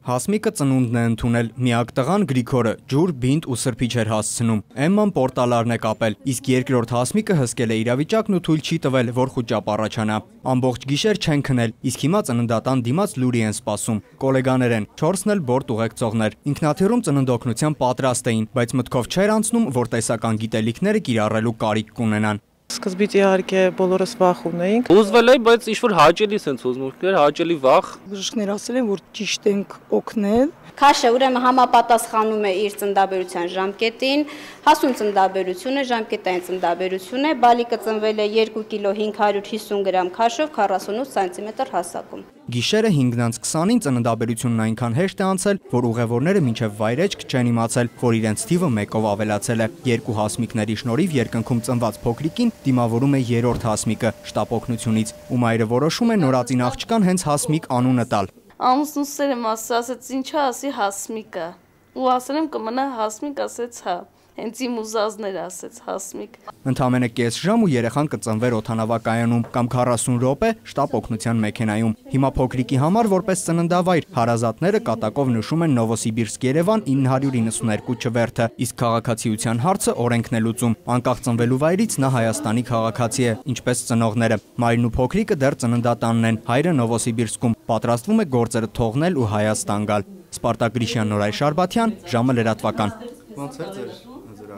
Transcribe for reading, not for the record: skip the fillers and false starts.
Հասմիկը ծնունդն է ընդունել, միակ տղան Գրիգորը ջուր, բինտ ու սրբիչ էր հասցնում, Էմման պորտալարն է կապել, իսկ երկրորդ Հասմիկը հսկել է իրավիճակն ու թույլ չի տվել, որ խուճապ առաջանա։ Ամբողջ գիշեր չեն քնել, իսկ հիմա ծննդատան դիմաց լուրի են սպասում։ Կոլեգաներ են, 4-ն էլ բորտ ուղեկցողներ։ Ինքնաթիռում ծննդօգնության պատրաստ էին, բայց մտքով չէր անցնում, որ տեսական գիտելիքները կիրառելու կարիք կունենան։ Սկզբից իհարկե բոլորս վախ ունեինք։ Ուզվել է, բայց ինչ-որ հաճելի sense ուզմունք էր, հաճելի վախ։ Բժիշկներ ասել են, որ ճիշտ ենք օգնել։ Քաշը ուրեմն համապատասխանում է իր ծննդաբերության ժամկետին, հասուն ծննդաբերություն է, ժամկետային ծննդաբերություն է, բալիկը ծնվել է 2 կիլո 550 գրամ քաշով 48 սանտիմետր հասակում։ Գիշերը 5:20-ին ծննդաբերությունն այնքան հեշտ է անցել, որ ուղևորները մինչև վայրեջք չեն իմացել, որ իրենց թիվը 1-ով ավելացել է։ 2 հասմիկների շնորհիվ երկնքում ծնված փոքրիկին դիմավորում է 3-րդ հասմիկը շտապ օգնությունից, ու մայրը որոշում է նորածին աղջկան հենց Հասմիկ անունը տալ։ Ամուսնուս սերեմ ասաց, ինչա ասի Հասմիկը։ Ու ասել եմ կմնա Հասմիկ, ասեց հա։ Հենց իմ ուզածներ ասեց Հասմիկ։ Ընդամենը կես ժամ ու երեխան կծնվեր օդանավակայանում կամ 40 րոպե շտապ օգնության մեքենայում։ Հիմա փոքրիկի համար որպես ծննդավայր հարազատները կատակով նշում են Նովոսիբիրսկ-Երևան 992 չվերթը, իսկ քաղաքացիության հարցը օրենքն է լուծում։ Անկախ ծնվելու վայրից նա Հայաստանի քաղաքացի է, ինչպես ծնողները։ Մայրն ու փոքրիկը դեռ ծննդատանն են, հայրը Նովոսիբիրսկում, պատրաստվում է գործերը թողնել ու Հայաստան գալ։ Սպարտակ Գրիշյան, Նորայր Շարբաթյան, ժամը լրատվական։ Ոնց էր ձեր